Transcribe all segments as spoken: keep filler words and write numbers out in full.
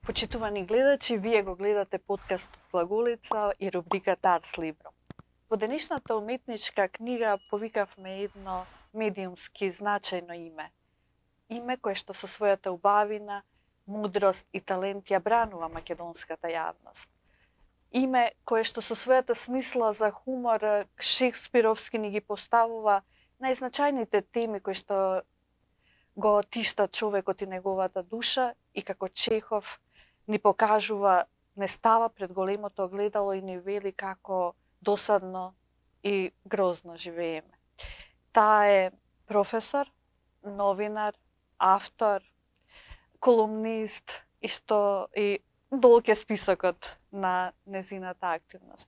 Почитувани гледачи, вие го гледате подкастот Глаголица и рубриката Арс Либро. Во денешната уметничка книга повикавме едно медиумски значајно име. Име кое што со својата убавина, мудрост и талент ја бранува македонската јавност. Име кое што со својата смисла за хумор шекспировски ни ги поставува најзначајните теми кои што го тиштат човекот и неговата душа и како Чехов ни покажува, не става пред големото огледало и ни вели како досадно и грозно живееме. Таа е професор, новинар, автор, колумнист и што и долг е списокот на незината активност.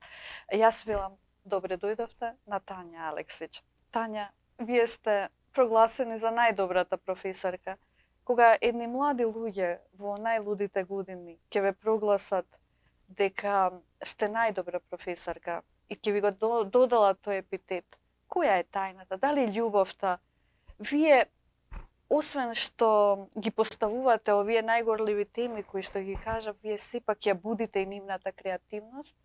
Јас велам добре дојдовте на Тања Алексич. Тања, вие сте прогласени за најдобрата професорка. Кога едни млади луѓе во најлудите години ќе ве прогласат дека сте најдобра професорка и ќе ви го додала тој епитет, која е тајната? Дали љубовта? Вие, освен што ги поставувате овие најгорливи теми кои што ги кажав, вие сепак ја будите и нивната креативност,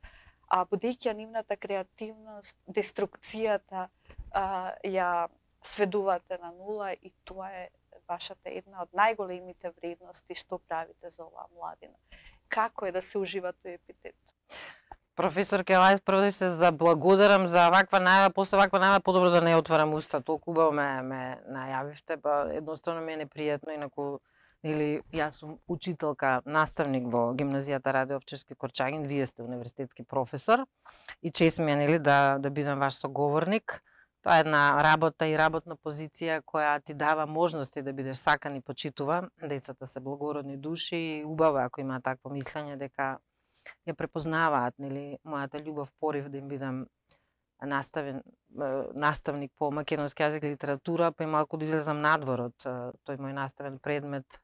а будејќи ја нивната креативност, деструкцијата а, ја сведувате на нула и тоа е вашата една од најголемите вредности што правите за оваа младина. Како е да се ужива тој епитет? Професор Келајс, прво да се заблагодарам за ваква најава, после ваква најава подобро да не отварам уста, толку убаво ме, ме најавивте, па едноставно ми е непријатно, инаку или јас сум учителка, наставник во гимназијата Раде Овчарски Корчагин, вие сте универзитетски професор и чест ми е нели да да бидам ваш соговорник. Тоа е една работа и работна позиција која ти дава можности да бидеш сакан и почитува. Децата се благородни души и убаво ако имаат такво мислење дека ја препознаваат, нели, мојата љубов, порив да им бидам наставен, наставник по македонски јазик и литература, па и малку да излезам надвор од тој мој наставен предмет,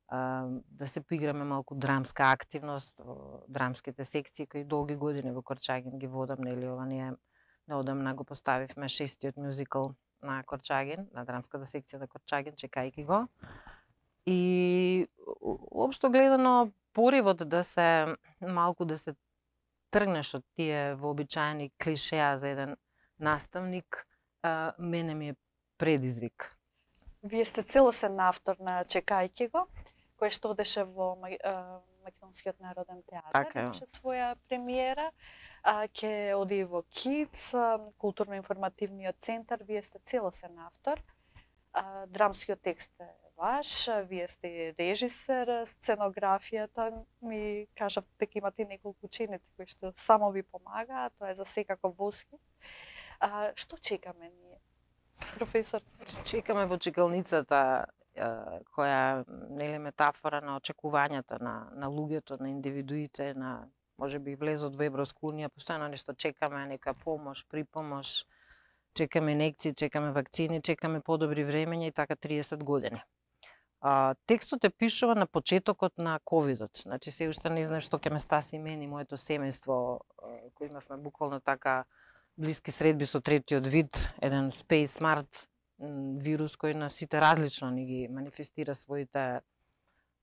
да се поиграме малку драмска активност, драмските секции кои долги години во Корчагин ги водам, нели, ова не е неодамна го поставивме шестиот мюзикл на Корчагин, на драмската секција на Корчагин, чекајки го. И општо гледано поривот да се малку да се тргнеш од тие вообичаени клишеа за еден наставник, а, мене ми е предизвик. Вие сте целосен автор на Чекајки го, кој што одеше во Македонскиот народен театар, така, имаше своја премиера, ќе оди во КИЦ, културно-информативниот центар, вие сте целосен автор. А, драмскиот текст е ваш, вие сте режисер, сценографијата ми кажав дека имате неколку ученици кои што само ви помагаат, тоа е за секако восхит. А, што чекаме ние, професор? Чекаме во чекалницата која нели метафора на очекувањата на на луѓето, на индивидуите, на можеби влезот во Европска унија, постојано нешто чекаме, некоја помош, припомош, чекаме инекции, чекаме вакцини, чекаме подобри времења и така триесет години. А, текстот е пишува на почетокот на ковидот, значи се уште не знам што ќе ме стаси мен и моето семејство, кој имавме буквално така блиски средби со третиот вид, еден Space Smart вирус кој на сите различно ни ги манифестира своите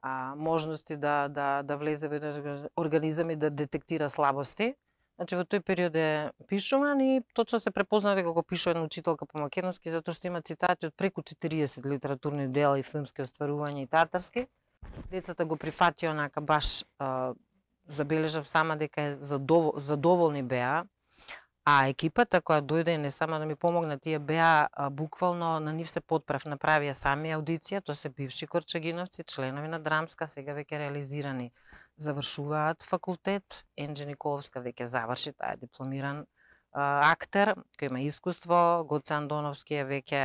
а, можности да, да, да влезе во еден организам и да детектира слабости. Значи во тој период е пишуван и точно се препозна дека го пишува една учителка по македонски, затоа што има цитати од преку четириесет литературни дела и филмски остварувања и театарски. Децата го прифатија онака баш а, забележав сама дека е задовол, задоволни беа. А екипата која дојде не само да ми помогна, тие беа а, буквално на нив се подправ, направија сами аудиција, тоа се бивши корчагиновци, членови на драмска, сега веќе реализирани, завршуваат факултет. Енџи Николовска веќе заврши, таа е дипломиран а, актер, кој има искуство, Гоце Андоновски е веќе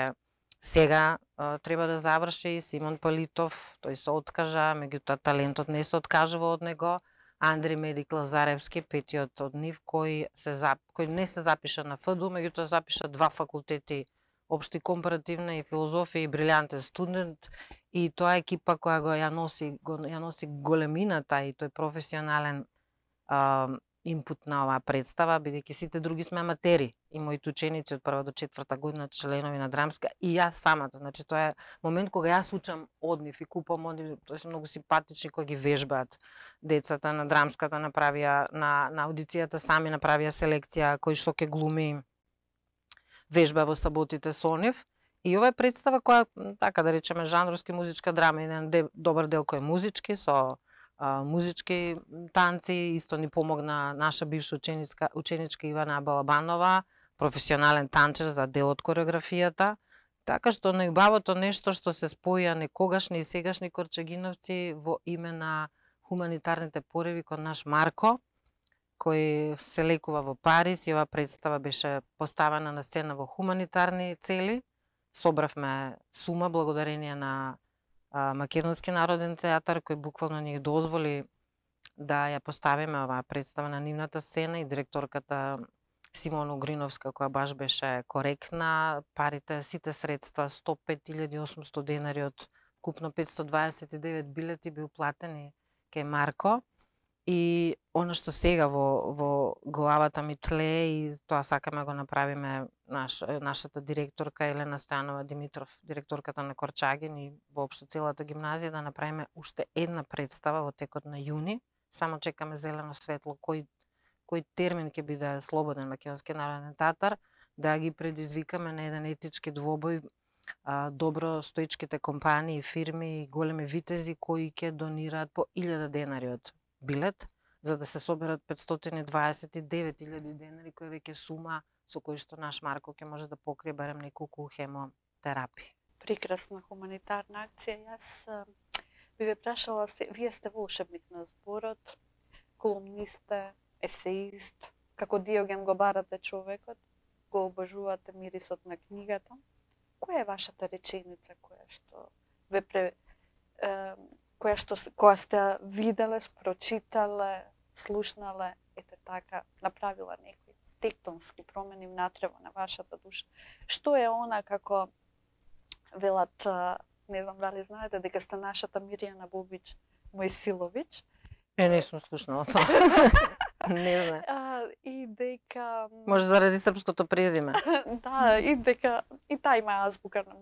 сега а, треба да заврши, Симон Палитов, тој се откажа, меѓутоа талентот не се откажува од него. Андри Медик Лазаревски, петиот од нив, кој, се, кој не се запиша на ФДУ, меѓутоа запиша два факултети, општи компаративна и филозофија и брилјантен студент. И тоа е екипа која го ја носи, го, ја носи големината и тој професионален а, инпут на оваа представа, бидејќи сите други сме аматери и моите ученици од прва до четврта година членови на драмска и јас самата. Значи тоа е момент кога јас учам од нив и купам од нив, тоа се многу симпатични кога ги вежбаат децата на драмската, направија на на аудицијата сами направија селекција кој што ќе глуми вежба во саботите со нив. И ова е представа која, така да речеме, жанровски музичка драма, еден де, добар дел кој е музички, со а, музички танци, исто ни помогна наша бивша ученичка, ученичка Ивана Балабанова, професионален танчер за дел од кореографијата. Така што најубавото нешто што се споја некогашни и сегашни корчагиновци во име на хуманитарните пореви кон наш Марко, кој се лекува во Париз и оваа представа беше поставена на сцена во хуманитарни цели. Собравме сума благодарение на а, Македонски народен театар кој буквално ни дозволи да ја поставиме оваа представа на нивната сцена и директорката Симона Огриновска која баш беше коректна. Парите, сите средства, сто и пет илјади и осумсто денари од купно петстотини дваесет и девет билети би уплатени кај Марко. И она што сега во, во главата ми тлее и тоа сакаме го направиме наш, нашата директорка Елена Стојанова Димитров, директорката на Корчагин и воопшто целата гимназија, да направиме уште една представа во текот на јуни. Само чекаме зелено светло кој кој термин ќе биде слободен Македонски народен театар, да ги предизвикаме на еден етички двобој а, добро стоичките компании, фирми и големи витези кои ќе донираат по илјада денари од билет, за да се соберат петстотини дваесет и девет илјади денари, кој веќе сума со кој што наш Марко ќе може да покрие барем неколку хемотерапии. Прекрасна хуманитарна акција. Јас би ве прашала, вие сте волшебник на зборот, колумнист, есеист, како Диоген го барате човекот, го обожувате мирисот на книгата. Која е вашата реченица која што ве пре, е, која што која сте виделе, прочитале, слушнале, ете така, направила некои тектонски промени внатре на вашата душа? Што е она како велат, не знам дали знаете, дека сте нашата Мирјана Бобич Мојсиловиќ? Е, не сум слушнала тоа. Не знам. А, и дека... Може заради српското презиме. Да, и дека и таа има азбука на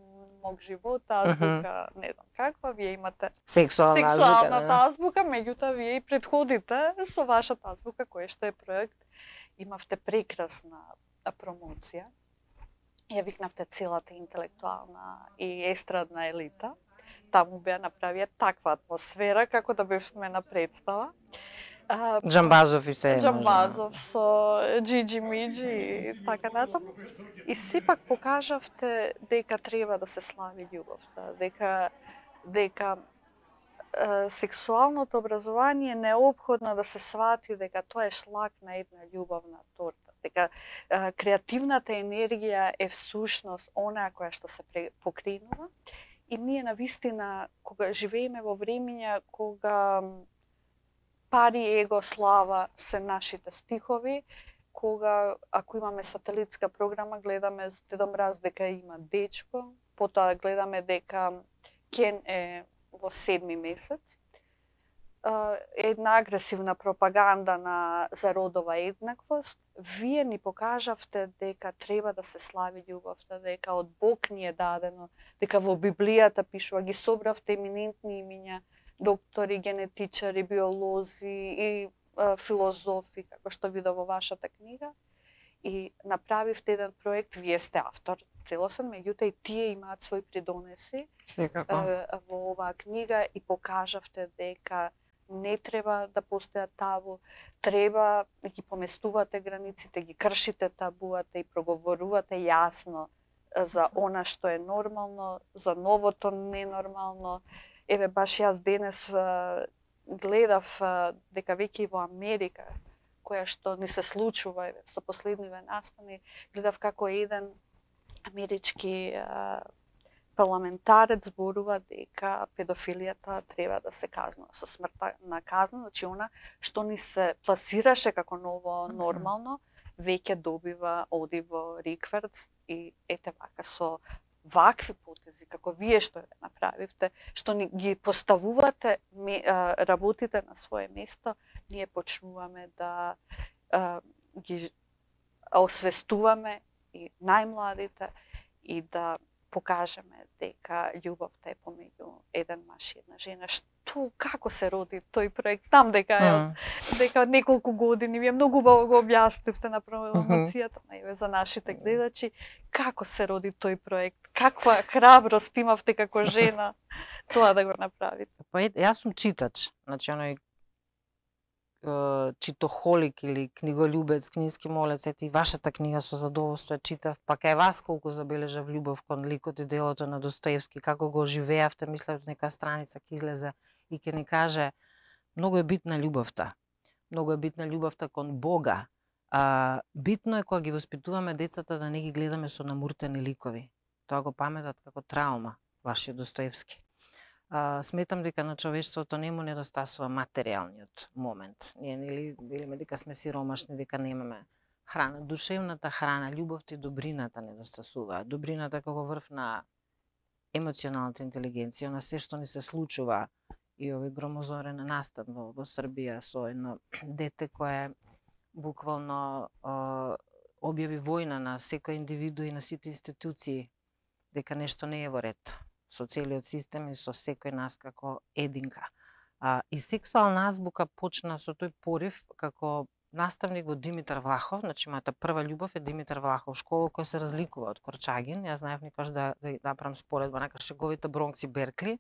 мог живот, азбука, uh -huh. не знам каква, вие имате сексуална сексуалната азбука, азбука, меѓутоа вие и предходите со вашата азбука, кој што е проект, имавте прекрасна промоција. Ја викнавте целата интелектуална и естрадна елита. Таму беа направија таква атмосфера како да бевме на представа. Джамбазов и се. Джамбазов со Джиджи Миджи и така натаму. И сепак покажавте дека треба да се слави љубовта, дека дека е, сексуалното образование е неопходно да се свати дека тоа е шлак на една љубовна торта, дека е, креативната енергија е всушност она која што се покренува. И ние навистина, кога живееме во времења кога пари, его, слава се нашите стихови, кога ако имаме сателитска програма, гледаме Дедо Мраз дека има дечко, потоа гледаме дека Кен е во седми месец. Една агресивна пропаганда на за родова еднаквост. Вие ни покажавте дека треба да се слави љубовта, дека од Бог ни е дадено, дека во Библијата пишува, ги собравте еминентни имиња, доктори, генетичари, биолози и а, филозофи, како што видов во вашата книга. И направивте еден проект, вие сте автор целосен, меѓутоа и тие имаат свој придонеси а, во оваа книга и покажавте дека не треба да постојат табу, треба да ги поместувате границите, ги кршите табуата и проговорувате јасно за она што е нормално, за новото ненормално. Еве, баш јас денес гледав дека веќе во Америка, која што ни се случува еве, со последниве настани, гледав како еден амерички парламентарец зборува дека педофилијата треба да се казнува со смртна казна, значи она што ни се пласираше како ново нормално, веќе добива оди во рикверц и ете вака со вакви потези, како вие што ја направивте, што ни ги поставувате работите на свое место, ние почнуваме да а, ги освестуваме и најмладите и да покажеме дека љубовта е помеѓу еден маж и една жена. Што, како се роди тој проект? Знам дека е од, дека од неколку години, вие многу убаво го објаснивте на промоцијата, најве за нашите гледачи, како се роди тој проект? Каква храброст имавте како жена тоа да го направите? Па јас сум читач, значи оној читохолик или книголюбец, книжки молец, ете и вашата книга со задоволство ја читав, па кај вас колку забележав љубов кон ликот и делото на Достоевски, како го оживеавте, мислев нека страница ќе излезе и ќе ни каже многу е битна љубовта. Многу е битна љубовта кон Бога. А, битно е кога ги воспитуваме децата да не ги гледаме со намуртени ликови. Тоа го паметат како траума, вашиот Достоевски. А, сметам дека на човештвото не му недостасува материјалниот момент. Ние нели велиме дека сме сиромашни, дека немаме храна, душевната храна, љубовта и добрината недостасува. Добрината како врв на емоционалната интелигенција, на се што ни се случува и овој громозорен настан во, во Србија со едно дете кое буквално а, објави војна на секој индивиду и на сите институции, дека нешто не е во ред со целиот систем и со секој нас како единка. А, и сексуална азбука почна со тој порив како наставник во Димитар Влахов, значи мојата прва љубов е Димитар Влахов, школа која се разликува од Корчагин. Јас знаев никош да, да направам споредба на шеговите Бронкс и Беркли,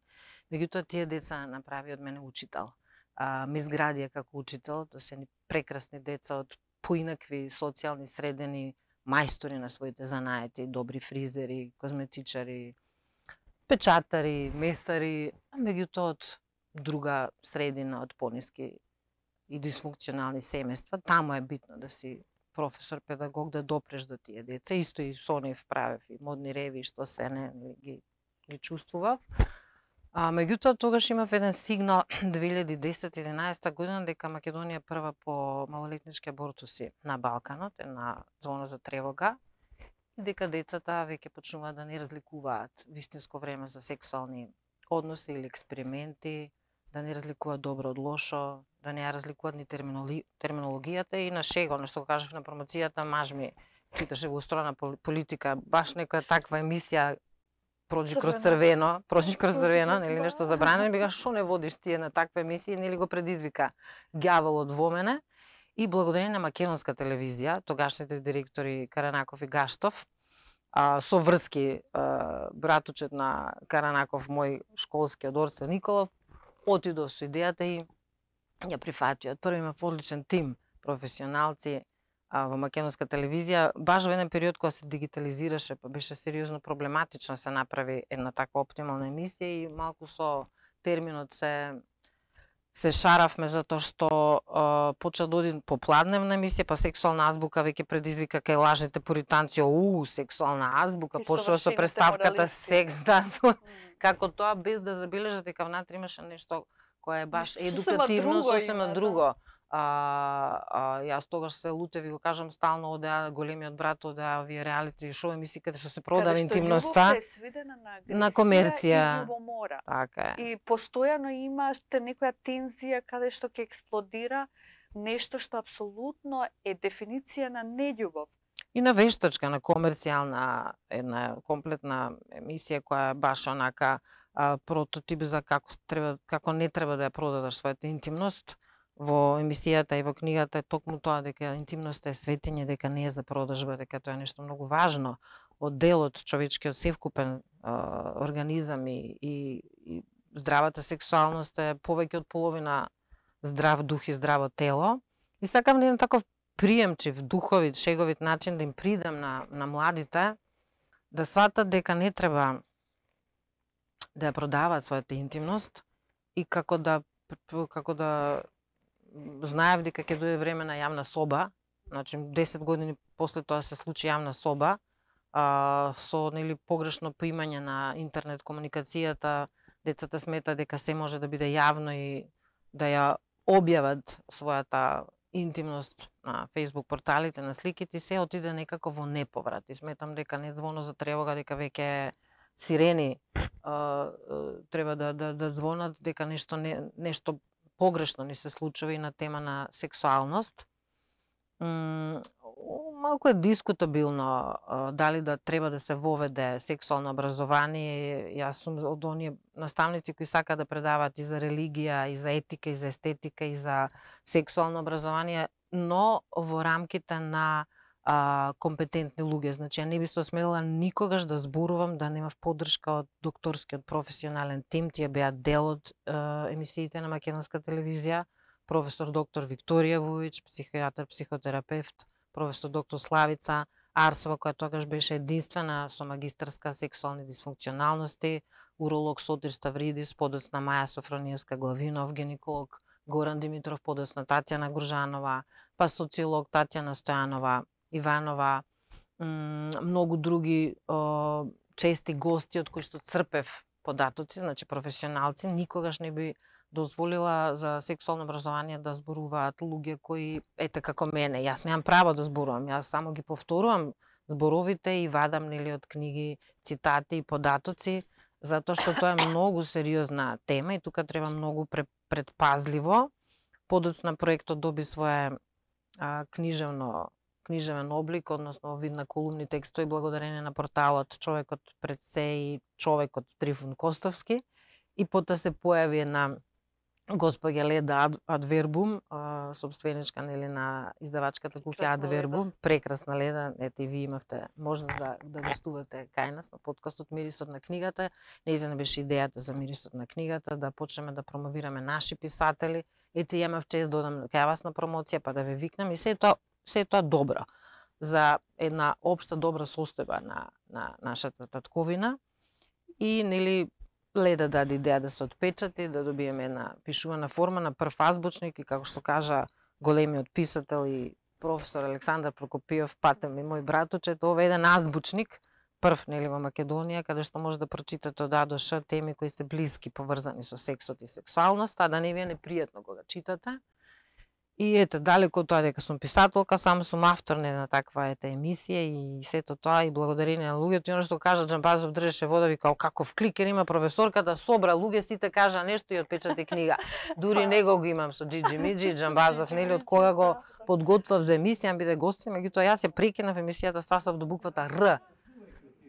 меѓутоа тие деца направи од мене учител. А, ме изградија како учител, тоа се ни прекрасни деца од поинакви социјални средини, мајстори на своите занаети, добри фризери, козметичари, печатари, месари, а меѓутоа од друга средина, од пониски и дисфункционални семејства. Таму е битно да си професор, педагог, да допреш до тие деца. Исто и со нив правев и модни реви, што се не ги, ги чувствував. А, меѓутоа, тогаш имав еден сигнал две илјади и десета единаесета година дека Македонија е прва по малолетнички абортуси на Балканот, една зона за тревога, и дека децата веќе почнуваат да не разликуваат вистинско време за сексуални односи или експерименти, да не разликуваат добро од лошо, да не ја разликуваат ни терминологијата и на шего, нешто го кажав на промоцијата, маж ми читаше во устроена политика, баш некоја таква емисија проđи кроз црвено, проđи кроз црвено, нели нешто забранено, бега што не водиш тие на таква емисија, нели го предизвика ѓаволот во мене. И благодарение на македонска телевизија, тогашните директори Каранаков и Гаштов, а, со врски а, братучет на Каранаков, мој школски од Орце Николов, отидов со идејата и ја прифатиот. Први имав одличен тим професионалци а, во македонска телевизија. Баш во еден период кога се дигитализираше, па беше сериозно проблематично се направи една таква оптимална емисија и малку со терминот се се шаравме затоа што а, почна да оди попладневна емисија, па сексуална азбука веќе предизвика кај лажните пуританци, уу, сексуална азбука, почна со представката секс, да, како тоа без да забележат дека внатре имаше нешто кое е баш едукативно, сосема друго. А, а, јас тогаш се лутев и го кажам стално одеа големиот брат, одеа овие реалити шоу емисии каде што се продава интимноста. Каде што љубовта е свидена на агресија на комерција и љубомора. Така е. И постојано имате некоја тензија каде што ќе експлодира нешто што апсолутно е дефиниција на нељубов. И на вештачка, на комерцијална една комплетна емисија која е баш онака а, прототип за како треба како не треба да ја продадеш својата интимност. Во емисијата и во книгата е токму тоа дека интимноста е светење, дека не е за продажба, дека тоа е нешто многу важно од делот човечкиот севкупен а, организам и, и, и здравата сексуалност е повеќе од половина здрав дух и здраво тело. И сакам на еден таков приемчив, духовит, шеговит начин да им придам на, на младите да сватат дека не треба да ја продаваат својата интимност и како да како да знаев дека ќе дојде време на јавна соба, значи десет години после тоа се случи јавна соба, а, со нели погрешно поимање на интернет комуникацијата, децата смета дека се може да биде јавно и да ја објават својата интимност на Facebook порталите, на сликите, се отиде некако во неповрат. И сметам дека не звоно за тревога, дека веќе сирени а, треба да, да, да звонат, дека нешто не, нешто погрешно ни се случува и на тема на сексуалност. М, малку е дискутабилно дали да треба да се воведе сексуално образование. Јас сум од оние наставници кои сака да предаваат и за религија, и за етика, и за естетика, и за сексуално образование, но во рамките на а, компетентни луѓе. Значи, ја не би се осмелила никогаш да зборувам да немав поддршка од докторскиот професионален тим. Тие беа дел од а, емисиите на македонска телевизија. Професор доктор Викторија Вујич, психијатар, психотерапевт, професор доктор Славица Арсова, која тогаш беше единствена со магистарска сексуални дисфункционалности, уролог Сотир Ставридис, подоцна Маја Софрониевска Главинов, гинеколог Горан Димитров, подоцна Татјана Гружанова, па социолог Татјана Стојанова Иванова, многу други о, чести гости од кои што црпев податоци, значи професионалци. Никогаш не би дозволила за сексуално образование да зборуваат луѓе кои, ете како мене, јас немам право да зборувам, јас само ги повторувам зборовите и вадам нели од книги цитати и податоци, затоа што тоа е многу сериозна тема и тука треба многу предпазливо. Подоцна проектот доби свое а, книжевно книжевен облик, односно вид на колумни текстови благодарение на порталот Човекот пред се и Човекот Трифун Костовски. И потоа се појави една госпоѓа Леда Адвербум, собственичка нели на издавачката куќа Адвербум, прекрасна Леда, ете и ви имавте можност да да гостувате кај нас на подкастот Мирисот на книгата. Нејзина беше идејата за Мирисот на книгата да почнеме да промовираме наши писатели. Ете имав чест да одам кај вас на промоција па да ве викнам и се тоа се тоа добро за една општа добра состојба на на нашата татковина и нели Леда даде идеја да се отпечати, да добиеме една пишувана форма на прв азбучник и како што кажа големиот писател и професор Александар Прокопиев, патем и мој братуче, тоа е еден азбучник, прв нели во Македонија, каде што може да прочитате од А до Ш теми кои се блиски поврзани со сексот и сексуалноста, а да не ви е непријатно кога читате. И ете, далеко од тоа дека сум писателка, само сум автор на таква ете емисија и сето тоа и благодарение на луѓето. И оно што кажа Џамбазов држеше вода, вика каков кликер има професорката, собра луѓе, сите кажа нешто и отпечати книга. Дури него го имам со Џиџи Миџи, Џамбазов, нели од кога го подготвав за емисија, биде гости, меѓутоа јас ја прекинав емисијата, стасав до буквата Р.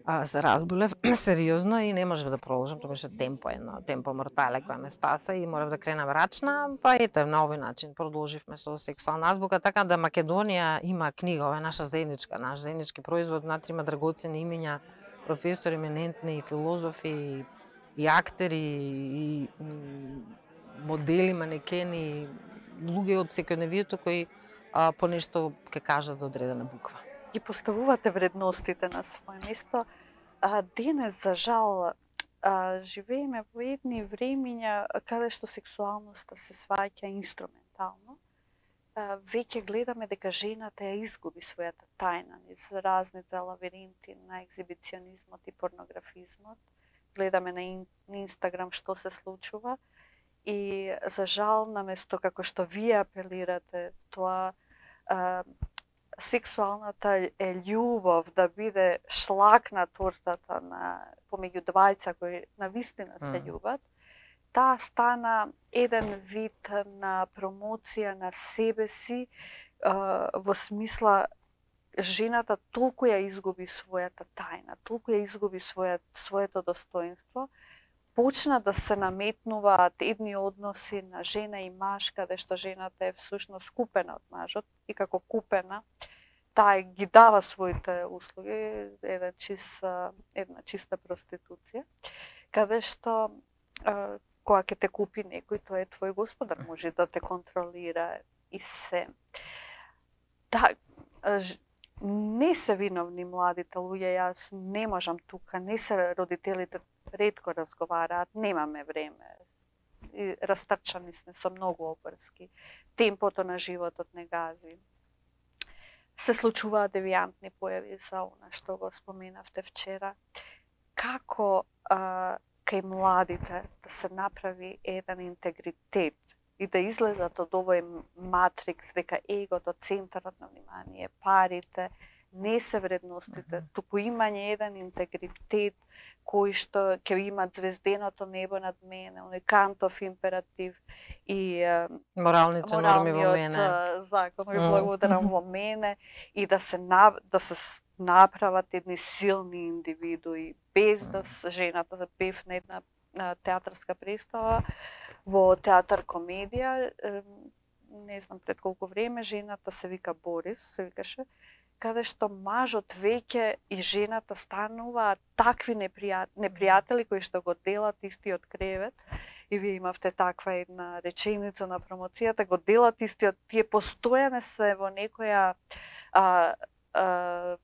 А, се разболев сериозно и не можев да продолжам, тоа беше темпо едно, темпо мортале која ме стаса и морав да кренам рачна, па ете на овој начин продолживме со сексуална азбука, така да Македонија има книга, ова е наша заедничка, наш заеднички производ, внатре има драгоцени имиња, професори, еминентни, филозофи, и, и актери, и, и модели, манекени, луѓе од секојдневието кои а, по нешто ќе кажат за одредена буква. Ги поставувате вредностите на своје место. А, денес, за жал, а, живееме во едни времиња каде што сексуалноста се сваќа инструментално. А, веќе гледаме дека жената ја изгуби својата тајна низ разните лавиринти на екзибиционизмот и порнографизмот. Гледаме на, ин, на Инстаграм што се случува и за жал, наместо како што вие апелирате, тоа а, сексуалната е љубов да биде шлак на тортата на помеѓу двајца кои навистина се љубат, таа стана еден вид на промоција на себе си, во смисла жената толку ја изгуби својата тајна, толку ја изгуби своја, своето достоинство, почна да се наметнуваат едни односи на жена и маж, каде што жената е всушност купена од мажот и како купена, таа ги дава своите услуги, една чиста, една чиста проституција, каде што кога ќе те купи некој, тоа е твој господар, може да те контролира и се. Да, не се виновни младите луѓе, јас не можам тука, не се родителите ретко разговараат, немаме време. И растрчани сме со многу обврски. Темпото на животот не гази. Се случуваат девијантни појави за она што го споменавте вчера. Како а, кај младите да се направи еден интегритет и да излезат од овој матрикс дека егото, центарот на внимание, парите, не се вредностите, туку имање еден интегритет кој што ќе има звезденото небо над мене, оној Кантов императив и моралните норми во мене, закон ви благодарам во мене и да се на, да се направат едни силни индивидуи без да жената да певне една театарска представа во театар комедија, не знам пред колку време, жената се вика Борис, се викаше, каде што мажот веќе и жената стануваат такви непријат... непријатели кои што го делат истиот кревет. И вие имавте таква една реченица на промоцијата, го делат истиот, тие постојано се во некоја а, а,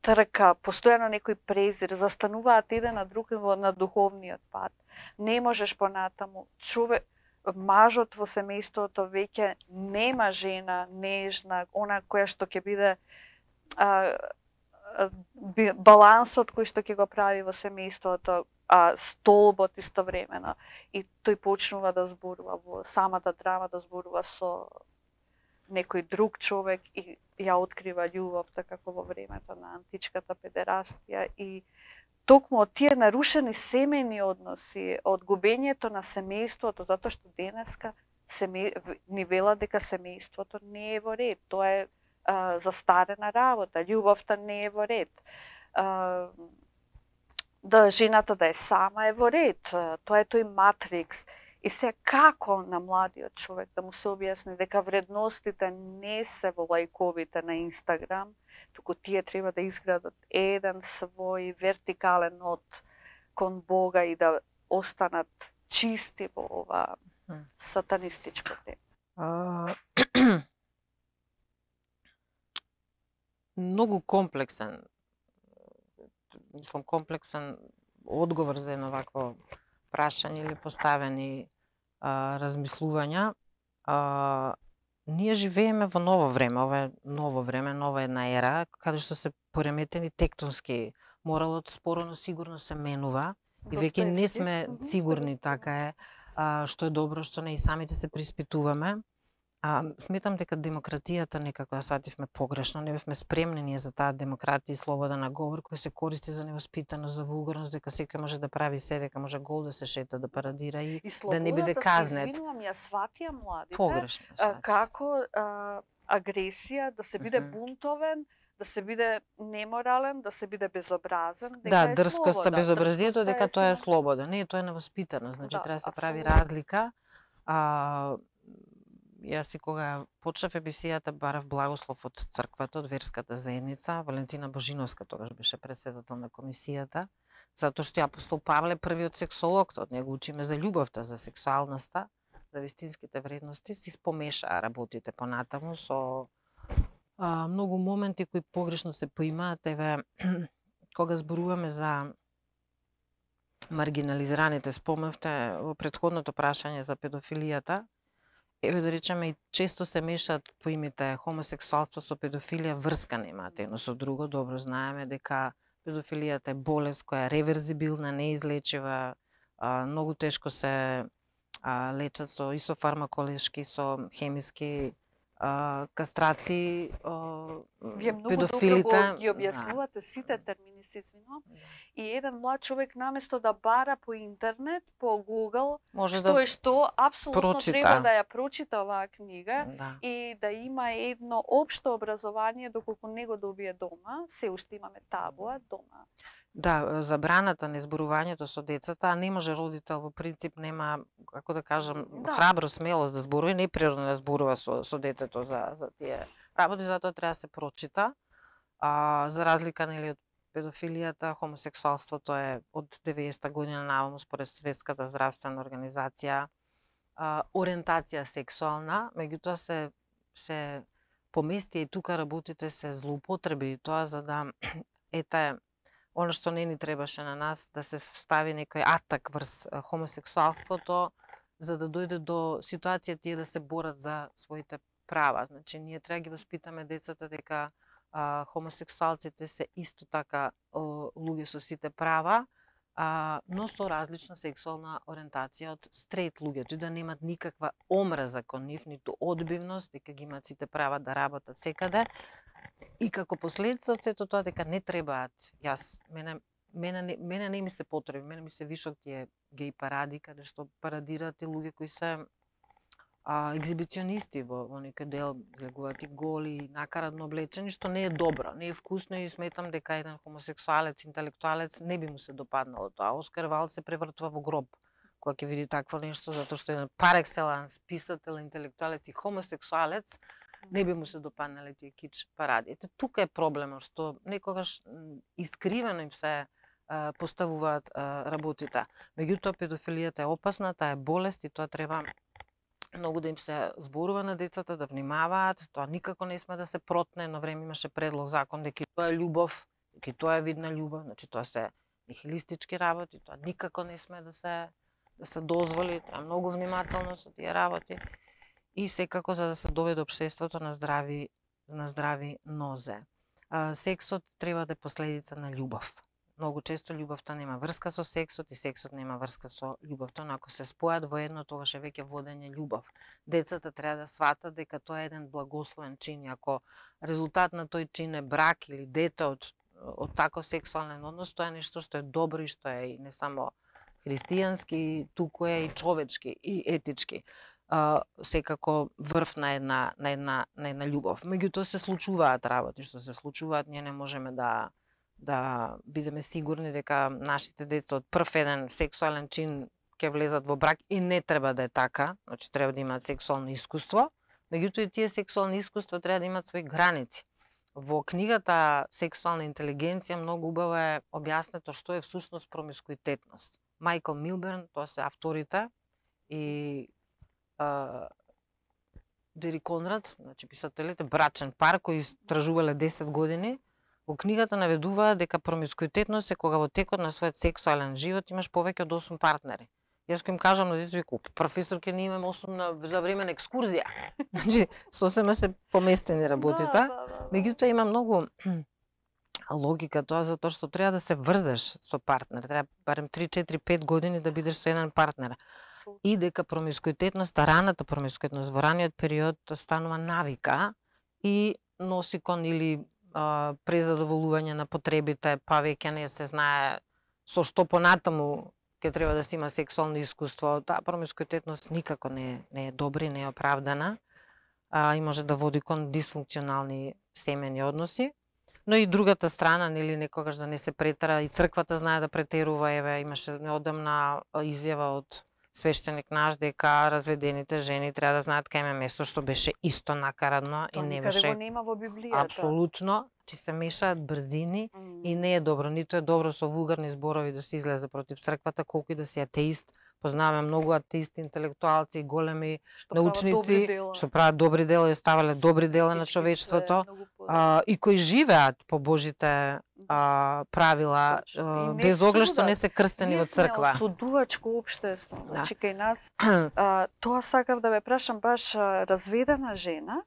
трка, постојано некој презир, застануваат еден на друг во на духовниот пат. Не можеш понатаму. Човек, мажот во семејството веќе нема жена нежна, она која што ќе биде а, а, балансот кој што ќе го прави во семејството, а столбот истовремено. И тој почнува да зборува во самата драма, да зборува со некој друг човек и ја открива љубовта како во времето на античката педерастија и токму од тие нарушени семејни односи, од губењето на семејството, затоа што денеска семе... ни велат дека семејството не е во ред. Тоа е а, застарена работа, љубовта не е во ред. А, да жената да е сама е во ред. Тоа е тој матрикс. И се како на младиот човек да му се објасни дека вредностите не се во лајковите на Инстаграм, туку тие треба да изградат еден свој вертикален од кон Бога и да останат чисти во ова сатанистичко тема. Многу комплексен, мислам комплексен одговор за едно вакво прашање или поставени а, размислувања. А, ние живееме во ново време, ова е ново време, нова една ера, каде што се пореметени тектонски. Моралот споро но сигурно се менува и веќе не сме сигурни, така е, а, што е добро, што не, и самите се приспитуваме. А, сметам дека демократијата некако ја свативме погрешно, не бевме спремни ние за таа демократија и слобода на говор кој се користи за невоспитаност, за вулгарност, дека секој може да прави се, дека може гол да се шета, да парадира и, и да не биде казнет. И слободата, ја сватија младите, погрешно, а, како а, агресија, да се биде mm -hmm. бунтовен, да се биде неморален, да се биде безобразен, дека да, е дрскоста, безобразието, дека тоа е слобода. Не, тоа е невоспитаност, значи да, треба да се прави разлика. А, Јас и кога почнав емисијата барав благослов од црквата, од верската заедница. Валентина Божиновска тогаш беше председател на комисијата, затоа што ја апостол Павле првиот сексолог, од него учиме за љубовта, за сексуалноста, за вистинските вредности, си спомеша работите понатаму со а, многу моменти кои погрешно се поимаат. Еве, кога зборуваме за маргинализираните, спомнавте во претходното прашање за педофилијата, еве да речеме и често се мешаат поимите хомосексуалство со педофилија, врска немаат едно со друго. Добро знаеме дека педофилијата е болест која е реверзибилна, неизлечива, а, многу тешко се а, лечат со и со фармаколешки, со хемиски а, кастрации. А, Вие многу педофилите добро ги објаснувате сите термини, се извинувам. И еден млад човек наместо да бара по интернет, по Google, може што да е што, апсолутно прочита. треба да ја прочита оваа книга да. и да има едно општо образование доколку не го добие дома. Се уште имаме табуа дома. Да, забраната на изборувањето со децата, а не може родител во принцип нема, како да кажам, да. храбро, смелост да зборува, не природно да зборува со, со детето за, за тие работи, затоа треба да се прочита. А, за разлика нели од педофилијата, хомосексуалството е од деветдесетта година наваму според Светската здравствена организација а, ориентација сексуална, меѓутоа се се помести и тука работите се злоупотреби, тоа за да ете она што не ни требаше на нас, да се стави некој атак врз хомосексуалството, за да дојде до ситуација тие да се борат за своите права. Значи, ние треба ги воспитаме децата дека а, хомосексуалците се исто така о, луѓе со сите права, а, но со различна сексуална ориентација од стрейт луѓето и да немат никаква омраза кон нив, ниту одбивност, дека ги имаат сите права да работат секаде. И како последица од сето тоа дека не требаат, јас, мене, мене, не, мене не ми се потреби, мене ми се вишок тие геј паради, каде што парадираат и луѓе кои се а, екзибиционисти во, во некој дел, излегуваат и голи, накарадно облечени, што не е добро, не е вкусно и сметам дека еден хомосексуалец, интелектуалец не би му се допаднало тоа. Оскар Валд се превртва во гроб кога ќе види такво нешто, затоа што еден пар екселанс писател, интелектуалец и хомосексуалец не би му се допаднале тие кич паради. Ете, тука е проблемот, што некогаш искривено им се а, поставуваат а, работите. Меѓутоа, педофилијата е опасна, таа е болест и тоа треба многу да им се зборува на децата, да внимаваат. Тоа никако не сме да се протне. Едно време имаше предлог закон дека тоа е љубов, дека тоа е вид на љубов, значи тоа се нихилистички работи, тоа никако не сме да се да се дозволи, треба многу внимателно со тие работи. И секако за да се доведе општеството на здрави на здрави нозе. А, сексот треба да е последица на љубов. Многу често љубовта нема врска со сексот и сексот нема врска со љубовта, но ако се спојат во едно, тогаш е веќе водење љубов. Децата треба да сватат дека тоа е еден благословен чин и ако резултат на тој чин е брак или дете од од таков сексуален однос, тоа е нешто што е добро и што е и не само христијански, туку е и човечки и етички. Uh, секако врв на една на една на една љубов. Меѓутоа се случуваат работи што се случуваат, ние не можеме да да бидеме сигурни дека нашите деца од прв еден сексуален чин ќе влезат во брак и не треба да е така, значи треба да имаат сексуално искуство, меѓутоа и тие сексуални искуства треба да имаат свои граници. Во книгата Сексуална интелигенција многу убаво е објаснето што е всушност промискуитетност. Майкл Милберн, тоа се авторите, и Uh, Дери Конрад, значи писателите, брачен пар кои истражувале десет години, во книгата наведуваат дека промискуитетност е кога во текот на својот сексуален живот имаш повеќе од осум партнери. Јас кога им кажам на децата, викам, професор ќе не имаме осум на за време на екскурзија. Значи сосема се поместени работите. Да, да, да. Меѓутоа има многу логика тоа, затоа што треба да се врзеш со партнер, треба барем три, четири, пет години да бидеш со еден партнер. И дека промискуитетноста, раната промискуитетност во раниот период станува навика и носи кон или а, презадоволување на потребите, па веќе не се знае со што понатаму ќе треба да се има сексуално искуство. Таа промискуитетност никако не, не е добра, не е оправдана а, и може да води кон дисфункционални семени односи. Но и другата страна, нели, некогаш да не се претера, и црквата знае да претерува, еве, имаше неодамна изјава од свештеник наш дека разведените жени треба да знаат кај има место, што беше исто накарадно и не беше. Тоа никаде го нема во Библијата. Апсолутно, че се мешаат брзини mm. и не е добро, ниту е добро со вулгарни зборови да се излезе против црквата, колку и да си атеист. Познаваме многу атеисти, интелектуалци, големи што научници прават што прават добри дела и оставале добри дела на човечеството, а, и кои живеат по Божите а, правила, а, без оглед што не се крстени во црква. Ние сме осудувачко општество. Значи кај нас а, тоа сакав да ве прашам, баш разведена жена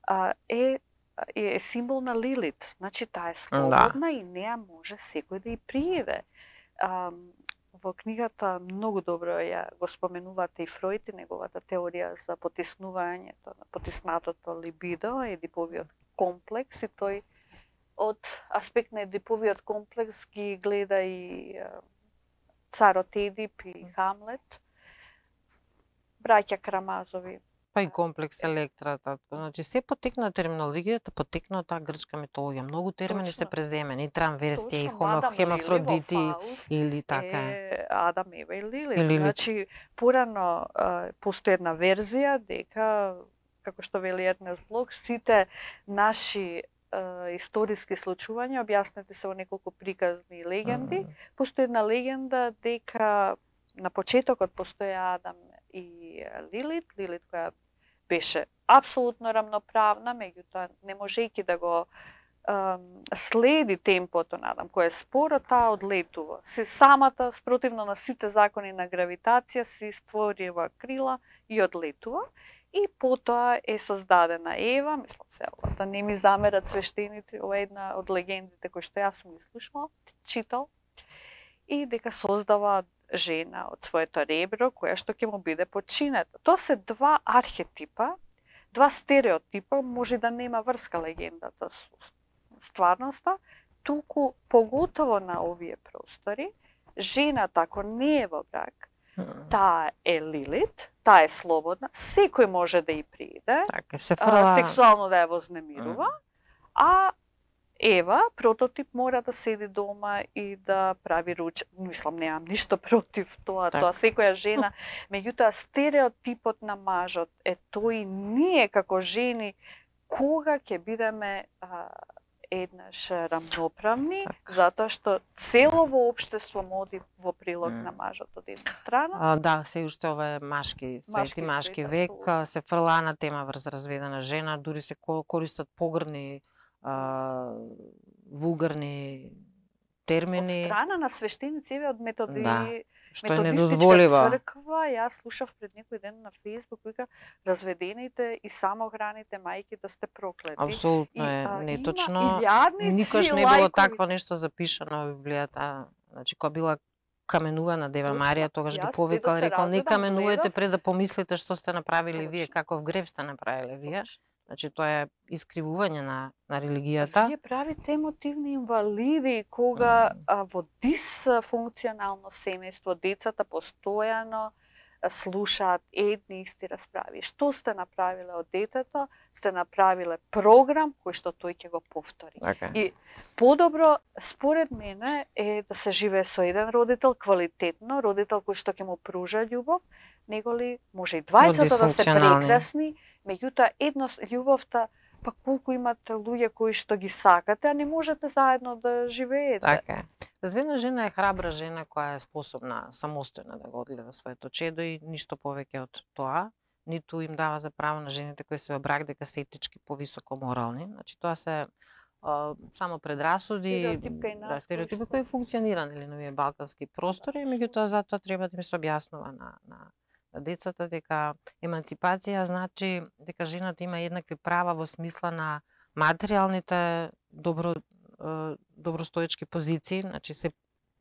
а, е е символ на Лилит. Значи таа е слободна, да, и неа може секој да ја приједе. А, Во книгата многу добро ја го споменувате и Фројд и неговата теорија за потиснувањето на потиснатото либидо, едиповиот комплекс, и тој од аспект на едиповиот комплекс ги гледа и царот Едип и Хамлет, браќа Карамазови. Па и комплекс Електрата. Значи се потекна терминологијата, потекна од таа грчка митологија. Многу термини се преземени, и трамверстија, и хемафродити или така е. Адам, Ева и Лилит. Лилит. Значи порано постои една верзија дека, како што вели Ернест Блок, сите наши историски случувања објаснети се во неколку приказни легенди. Mm. Постои една легенда дека на почетокот постоја Адам и Лилит, Лилит која беше апсолутно рамноправна, меѓутоа не можејќи да го ем, следи темпото на Адам, кој е споро, таа одлетува. Се самата, спротивно на сите закони на гравитација, си створива крила и одлетува. И потоа е создадена Ева, мислам се, да не ми замерат свештеници, ова е една од легендите кои што јас сум слушала, читал, и дека создава жена од своето ребро, која што ќе му биде подчинета. Тоа се два архетипа, два стереотипа може да нема врска легендата со стварноста, туку поготово на овие простори, жената ако не е во брак, таа е Лилит, таа е слободна, секој може да ја приде, Така, се фрла... а, сексуално да ја вознемирува, а Ева, прототип, мора да седи дома и да прави руч. Мислам, немам ништо против тоа, Так. тоа секоја жена. Меѓутоа, стереотипот на мажот е тој ние како жени кога ќе бидеме а, еднаш рамноправни, Так. затоа што целово општество моди во прилог Mm. на мажот од една страна. А, да, се уште ова е машки, свети Машки машки свет, век, апсолутно. а, се фрла на тема врз разведена жена, дури се ко- користат погрни а, вулгарни Од термини, страна на свештеници, еве, од методи, Да, што е методистичка недозволиво. црква, јас слушав пред некој ден на Facebook, вика, разведените и самохраните мајки да сте проклети. Апсолутно И, е а, неточно. Има илјадници Никош не било лајкови. такво нешто запишано во Библијата. Значи, кога била каменувана Дева Точно. Марија, тогаш ги Јас, пред повикал да и се рекол, не разведам, каменувајте гледав. пред да помислите што сте направили вие, Точно. каков грев сте направиле вие. Точно. Значи, тоа е искривување на, на А религијата. Вие правите емотивни инвалиди кога а, во дисфункционално семејство децата постојано а, слушаат едни исти расправи. Што сте направиле од детето? Сте направиле програм кој што тој ќе го повтори. Така. И подобро, според мене, е да се живее со еден родител квалитетно, родител кој што ќе му пружа љубов, него ли може и двајцата да се дисфункционални. прекрасни, меѓутоа едно љубовта, па колку имате луѓе кои што ги сакате, а не можете заедно да живеете. Така е. Разведена жена е храбра жена која е способна самостојно да го одгледа своето чедо и ништо повеќе од тоа. Ниту им дава за право на жените кои се во брак дека се етички повисоко морални. Значи тоа се а, само предрасуди, Стереотипка и нас да, стереотипи кои што- кои функционира нели на овие балкански простори, меѓутоа затоа треба да им се објаснува на на на децата дека еманципација значи дека жената има еднакви права во смисла на материјалните добро е, добростоечки позиции, значи се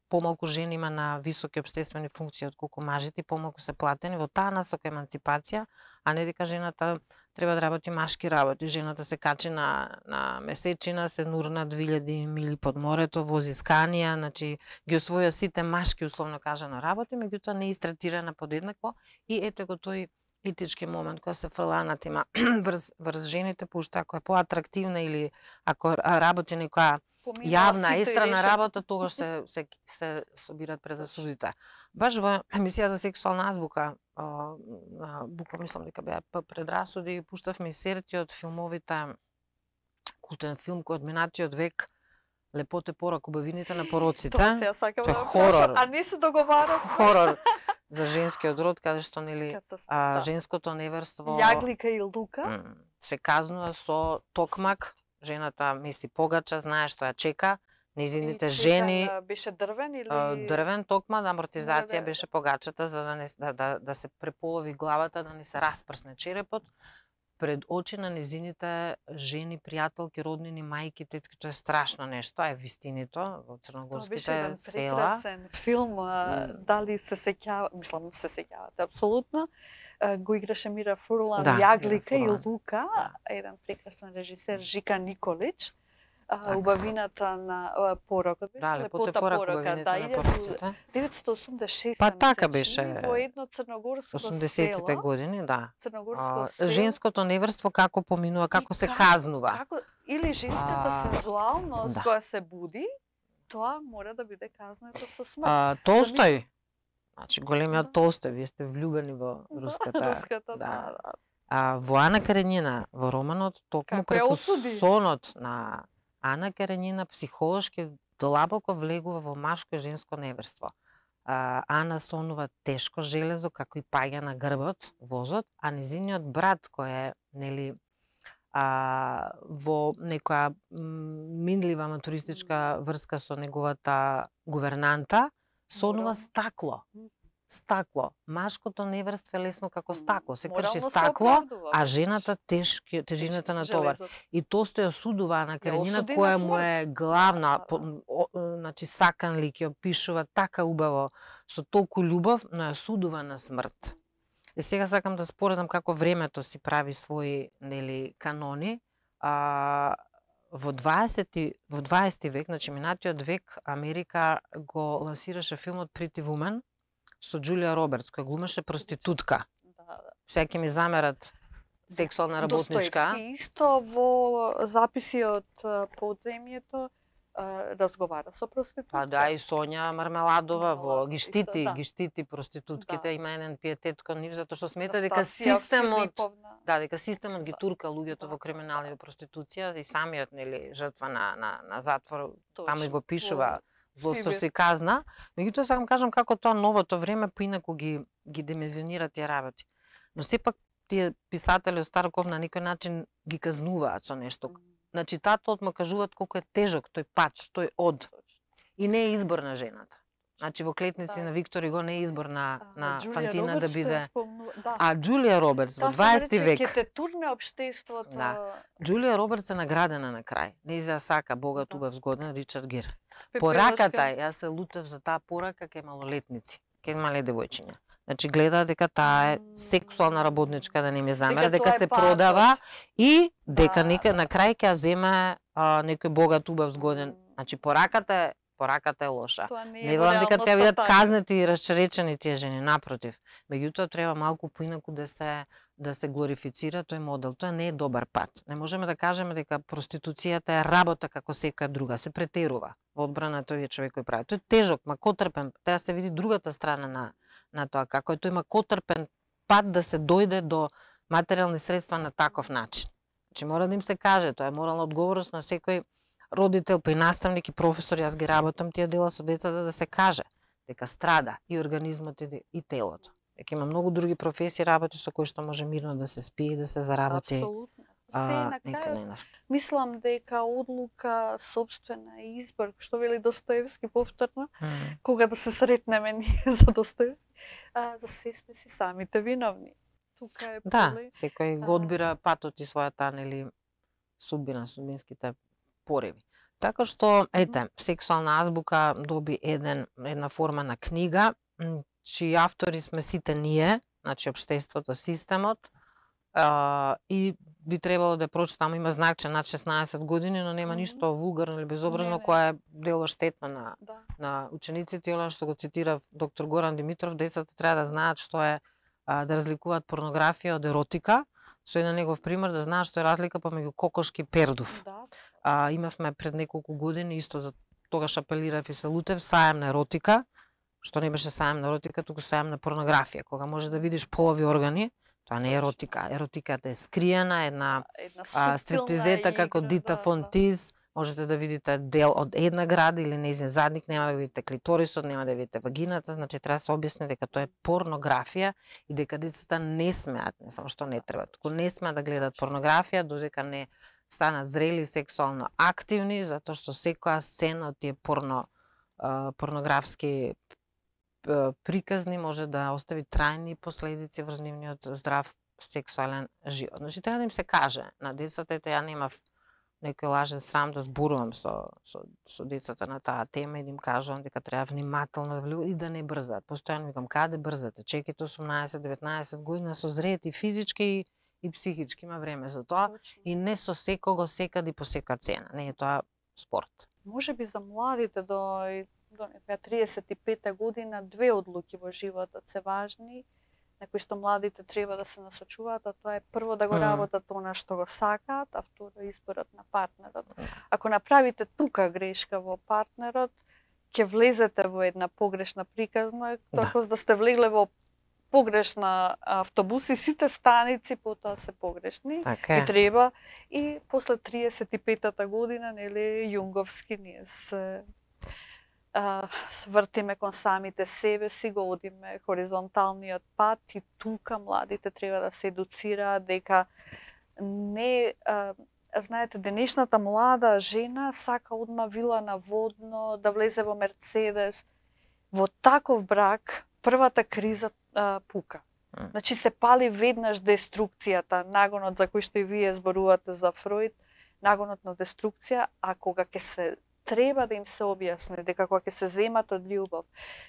помалку жени има на високи општествени функции отколку мажите, помалку се платени во таа насока еманципација, а не дека жената треба да работи машки работи. Жената се качи на на месечина, се нурна две илјади мили под морето, вози сканија, значи ги освоја сите машки условно кажано работи, меѓутоа не е истретирана подеднакво и ете го тој етички момент која се фрла на тема врз, врз жените, пошто ако е поатрактивна или ако работи некоја Поминаа јавна, сите и естрана решат. работа, тогаш се, се, се собират пред да судите. Баш во емисијата Сексуална азбука, а, на Буко, мислам дека беа П предрасуди, пуштавме и серти од филмовите, култен филм кој од минатиот век, Лепоте порак, убавините на пороците. Тоа се ја сакам Тоа е да хорор. прашам, а не се договарав. Хорор за женскиот род, каде што нели а, Катастрофа. женското неверство Јаглика и Лука. м, се казнува со токмак. Жената меси погача, знае што ја чека. Незините И жени чекан, а, беше дрвен или а, дрвен токма да амортизација Мора да- беше погачата за да не да, да, да се преполови главата, да не се распрсне черепот пред очи на незините жени, пријателки, роднини, мајки, тетки. Тоа е страшно нешто, а е вистинито во Тоа беше црногорските еден села. прекрасен филм, а, М. дали се сеќава, мислам се сеќавате апсолутно. А, Го играше Мира Фурлан, Да, Јаглика Мира и Фурлан. Лука, Да. еден прекрасен режисер Жика Николич. А, Така. убавината на а, порокот беше Да, Лепоте Лепота порак, порока, убавините да, на иде пороците. деветстотини осумдесет и шеста Па така ми се чини, беше. во едно црногорско осумдесетите село, години, да. црногорско А, село. женското неверство како поминува, како И се како- казнува. Како, или женската А, сензуалност да. која се буди, тоа мора да биде казнето со смрт. А, Толстој, значи големиот Да. Толстој, вие сте влюбени во руската. Руската, да. да, да. А, во Ана Каренина, во романот, токму Како ја преку осуди? сонот на Ана Каренина психолошки длабоко влегува во машко и женско неверство. А, Ана сонува тешко железо, како и паѓа на грбот, возот, а незиниот брат кој е, нели, а, во некоја м, минлива матуристичка врска со неговата гувернанта, сонува Морално. стакло. Стакло. Машкото неверство е лесно како стакло. Се Морално крши се стакло, оправдува, а веднаш. жената тешки, тежината на товар. Железото. И Толстој осудува Ана Каренина, осуди на која му смрт. е главна, Да, по, да. о, значи саканлик, ја опишува така убаво, со толку љубов, но ја осудува на смрт. Е, сега сакам да споредам како времето си прави своји, нели, канони. А, во дваесети во дваесети век, значи минатиот век, Америка го лансираше филмот Pretty Woman со Џулија Робертс, која глумеше проститутка. Да, да. Сега ќе ми замерат сексуална работничка. Достоевски исто во записи од а, подземјето а, разговара со проститутка. Па да, и Сонја Мармеладова во Мармеладова, ги штити, исто, да. ги штити проститутките, Да. има еден пиетет кон нив затоа што смета дека Настасија системот, Филиповна. да, дека системот ги Да. турка луѓето Да. во криминал и во проституција и самиот, нели, жртва на на на затвор, Точно. таму и го пишува злосторство Сибир. и казна. Меѓутоа сакам кажам како тоа новото време поинаку ги ги димензионира тие работи. Но сепак тие писатели од Старков на некој начин ги казнуваат со нешто. На читателот му кажуваат колку е тежок тој пат, тој од. И не е избор на жената. Значи во Клетници Да. на Виктор Иго не е избор на, А, на Џулија Фантина да Робертс што ја биде. спомнува, да. А Џулија Робертс во Таа се дваесети нарече век. Ќе те турне општеството. Да. Џулија Робертс е наградена на крај. Нејзија сака богат, Да. убав, згоден Ричард Гир. Пепелашка. Пораката, јас се лутев за таа порака кај малолетници, кај мале девојчиња. Значи гледа дека таа е сексуална работничка, да не ми замера, дека, тоа е се патот. продава и дека Да, нека да. на крај ќе ја земе а, некој богат, убав, згоден. М. Значи пораката е пораката е лоша. Тоа не е Не во велам дека реалноста треба бидат така. казнети и расчеречени тие жени, напротив. Меѓутоа треба малку поинаку да се да се глорифицира тој модел. Тоа не е добар пат. Не можеме да кажеме дека проституцијата е работа како секоја друга, се претерува во одбрана тој човек кој прави. Тој е тежок, макотрпен, треба да се види другата страна на на тоа како е тој макотрпен пат да се дојде до материјални средства на таков начин. Значи мора да им се каже, тоа е морална одговорност на секој родител, па и наставник и професор, јас ги работам тие дела со децата да се каже дека страда и организмот и, и телото. Дека има многу други професии работи со кои што може мирно да се спие и да се заработи. Апсолутно. Се А, на нека крајот не наш. мислам дека одлука собствена и избор, што вели Достоевски повторно, М. кога да се сретнеме ние за Достоевски, а, за се сме си самите виновни. Тука е Да, поле. секој а, го одбира патот и својата, нели, судбина, судбинските пореви. Така што, ете, сексуална азбука доби еден, една форма на книга, м, чии автори сме сите ние, значи општеството, системот, а, и би требало да прочитам, има знак че над шеснаесет години, но нема Мгм. ништо вулгарно или безобразно Не, не. која е дело штетно на Да. на учениците, и она што го цитира доктор Горан Димитров, децата треба да знаат што е а, да разликуваат порнографија од еротика, со еден негов пример да знаат што е разлика помеѓу кокошки и пердув. Да. А, имавме пред неколку години, исто за тогаш апелирав и се лутев, сајам на еротика, што не беше сајам на еротика, туку сајам на порнографија, кога можеш да видиш полови органи, тоа не е Точно. еротика. Еротиката е скриена, една Една а, суптилна стриптизета како игра, Дита да, фон да. Тиз, можете да видите дел од една града или нејзин задник, нема да видите клиторисот, нема да видите вагината, значи треба да се објасни дека тоа е порнографија и дека децата не смеат, не само што не треба, туку не смеат да гледат порнографија додека не станат зрели и сексуално активни, затоа што секоја сцена од тие порно а, порнографски а, приказни може да остави трајни последици врз нивниот здрав сексуален живот. Значи треба да им се каже на децата, ете ја немав некој лажен срам да зборувам со, со, со децата на таа тема и да им кажувам дека треба внимателно да влегуваат и да не брзаат. Постојано викам, каде брзате? Чекайте осумнаесет деветнаесет година, созреете и физички и, и психички, има време за тоа. Точно. И не со секого, секаде и по секоја цена. Не е тоа спорт. Може би за младите до, до некоја триесет и пета година две одлуки во животот се важни, на кои што младите треба да се насочуваат, а тоа е прво да го Мм. работат она што го сакаат, а второ изборот на партнерот. Ако направите тука грешка во партнерот, ќе влезете во една погрешна приказна, Да. како да сте влегле во погрешна автобус и сите станици потоа се погрешни. Така И е. треба и после триесет и петата година, нели, јунговски ние се а, свртиме кон самите себе си, го одиме хоризонталниот пат и тука младите треба да се едуцираат дека не а, знаете, денешната млада жена сака одма вила на водно, да влезе во Мерцедес. Во таков брак првата криза а, пука. М. Значи се пали веднаш деструкцијата, нагонот за кој што и вие зборувате за Фројд, нагонот на деструкција, а кога ќе се треба да им се објасни дека кога ќе се земат од љубов,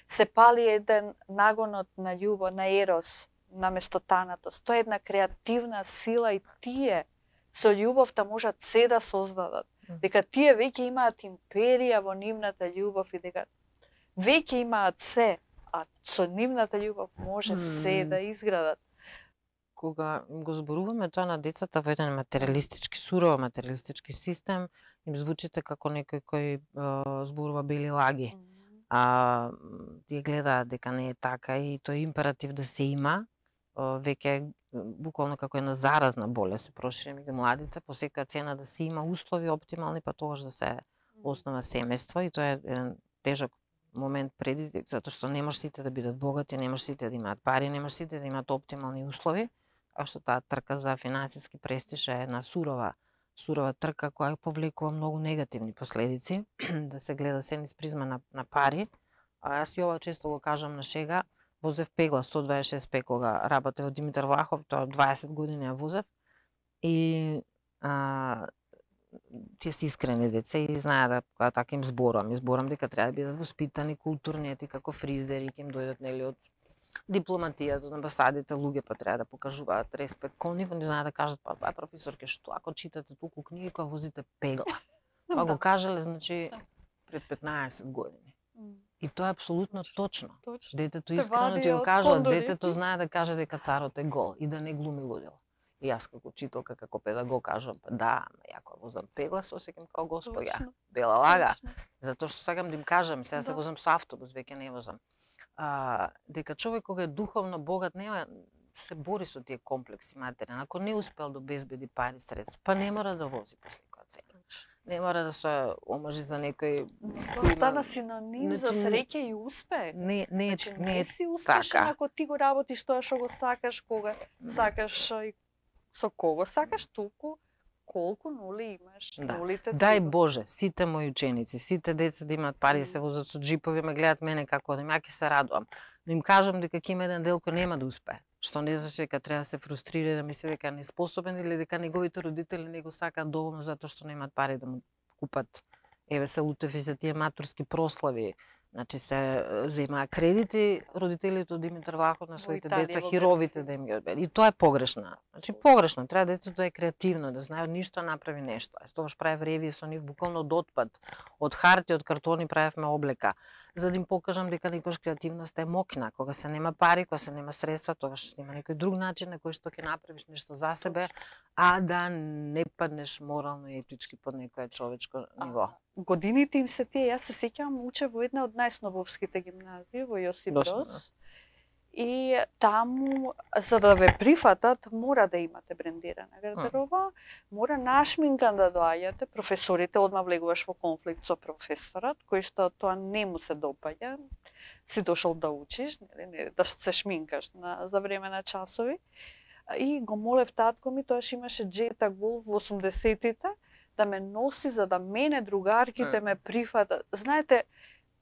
се пали еден нагонот на љубов, на ерос, наместо танатост. Тоа е една креативна сила и тие со љубовта можат се да создадат. Дека тие веќе имаат империја во нивната љубов и дека веќе имаат се, а со нивната љубов може се да изградат. Кога го зборуваме тоа на децата во еден материалистички, сурово материалистички систем, им звучите како некој кој е, зборува бели лаги. А тие гледаат дека не е така и тој императив да се има, веќе буквално како една заразна болест се прошири меѓу младите, по секоја цена да се има услови оптимални, па тогаш да се основа семејство и тоа е еден тежок момент предизвик, затоа што не може сите да бидат богати, не може сите да имаат пари, не може сите да имаат оптимални услови, а што таа трка за финансиски престиж е една сурова, сурова трка која повлекува многу негативни последици, да се гледа се низ призма на, на пари. А јас и ова често го кажам на шега, возев пегла сто дваесет и шест пе кога работев од Димитар Влахов, тоа дваесет години ја возев и а, тие се искрени деца и знаат да кога така им зборувам, изборам дека треба да бидат воспитани, културни, ети како фризери, ќе им дојдат нели од дипломатијата, од амбасадите, луѓе па треба да покажуваат респект кон нив, не знаат да кажат па па професорке што ако читате толку книги кога возите пегла. Тоа го кажале значи пред петнаесет години. И тоа е апсолутно точно. точно. Детето искрено ти го кажува, детето знае да каже дека царот е гол и да не глуми лудило. И јас како учителка, како педагог кажувам, па да, ама ја кога возам пегла се осеќам како господја, бела лага, затоа што сакам да им кажам, сега да. се возам со автобус, веќе не возам. А, дека човек кога е духовно богат нема се бори со тие комплекси материјални. Ако не успел да обезбеди пари средства, па не мора да вози по секоја цена. Не мора да се омажи за некој. Тоа стана синоним за среќа и успех. Не, не, значи, не, не е си успешен така. ако ти го работиш тоа што го сакаш, кога сакаш и со кого сакаш, толку колку нули имаш. Да. Нулите Дај ти... Боже, сите мои ученици, сите деца да имаат пари, да се возат со джипови, ме гледат мене како одам, ја ќе се радувам. Но им кажам дека ќе има еден дел кој нема да успее. Што не значи дека треба да се фрустрира, да мисли дека не е способен или дека неговите родители не го сакаат доволно затоа што немаат пари да му купат. Еве се лутеви за тие матурски прослави. Значи се земаа кредити родителите од Димитар Влахов на своите деца, хировите да им ги одбере. И тоа е погрешно. Значи погрешно, треба детето да е креативно, да знае од ништо направи нешто. Јас тогаш правев ревија со нив буквално од отпад, од хартија, од картони правевме облека, за да им покажам дека некојаш креативноста е мокна. Кога се нема пари, кога се нема средства, тогаш има некој друг начин на кој што ќе направиш нешто за себе, а да не паднеш морално и етички под некое човечко ниво. Годините им се тие, јас се сеќавам, учев во една од најснобовските гимназии во Јосип Брос. И таму, за да ве прифатат, мора да имате брендирана гардероба, мора нашминкан да доаѓате, професорите одма влегуваш во конфликт со професорот, кој што тоа не му се допаѓа, си дошол да учиш, не, да се шминкаш на, за време на часови. И го молев татко ми, тоаш имаше Джета Гул во осумдесетите, да ме носи за да мене другарките ме прифатат. Знаете,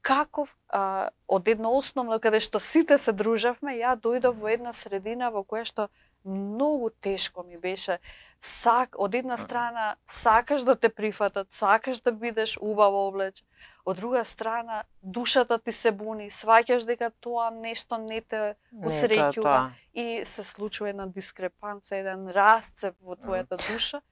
каков, а, од едно основно каде што сите се дружавме, ја дојдов во една средина во која што многу тешко ми беше. Сак, од една страна сакаш да те прифатат, сакаш да бидеш убаво облечен, од друга страна душата ти се буни, сваќаш дека тоа нешто не те усреќува и се случува една дискрепанца, еден расцеп во твојата душа.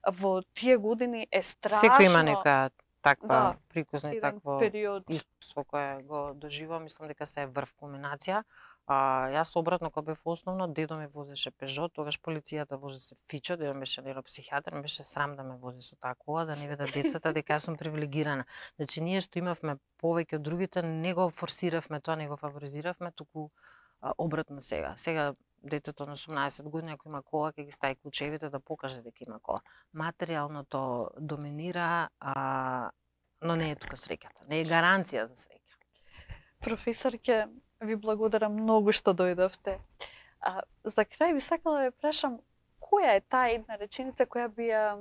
Во тие години е страшно. Секој има нека таква да, прикузна и такво период искуство кое го доживувам, мислам дека се е врв кулминација. А, јас обратно кога бев основно, дедо ме возеше Пежо, тогаш полицијата возеше Фичо, дедо беше нейропсихијатар, ме беше срам да ме вози со таа кола, да не видат децата дека јас сум привилегирана. Значи ние што имавме повеќе од другите, не го форсиравме тоа, не го фаворизиравме, туку а, обратно сега. Сега детето на осумнаесет години, ако има кола, ќе ги стави клучевите да покаже дека има кола. Материјалното доминира, а, но не е тука среќата. Не е гаранција за среќа. Професорке, ви благодарам многу што дојдовте. А, за крај би сакала да ве прашам, која е таа една реченица која би ја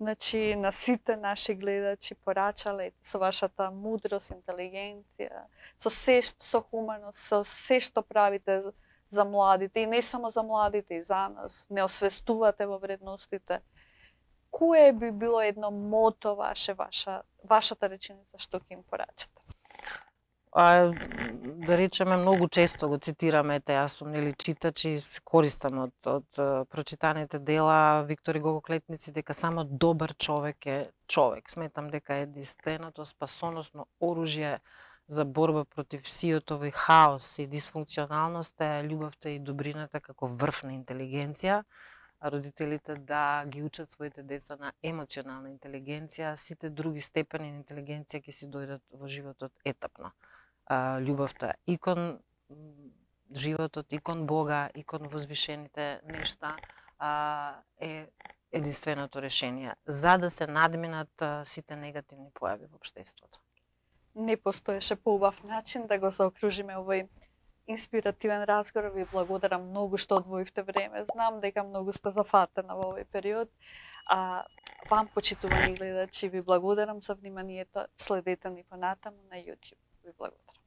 значи, на сите наши гледачи порачале со вашата мудрост, интелигенција, со се што, со хуманост, со се што правите за младите и не само за младите, и за нас, не освестувате во вредностите. Кое би било едно мото ваше, ваша, вашата реченица што ќе им порачате? А, да речеме, многу често го цитираме, ете, јас сум нели читач и се користам од, од прочитаните дела Виктор Гого Клетници, дека само добар човек е човек. Сметам дека е единственото спасоносно оружје за борба против сиото и хаос и дисфункционалност е љубовта и добрината како врв на интелигенција, а родителите да ги учат своите деца на емоционална интелигенција, сите други степени на интелигенција ќе си дојдат во животот етапно. А, љубовта и кон животот, и кон Бога, и кон возвишените нешта а, е единственото решение за да се надминат а, сите негативни појави во општеството. Не постоеше поубав начин да го заокружиме овој инспиративен разговор. Ви благодарам многу што одвоивте време. Знам дека многу сте зафатена во овој период. А вам, почитувани гледачи, ви благодарам за вниманието. Следете ни понатаму на YouTube. Ви благодарам.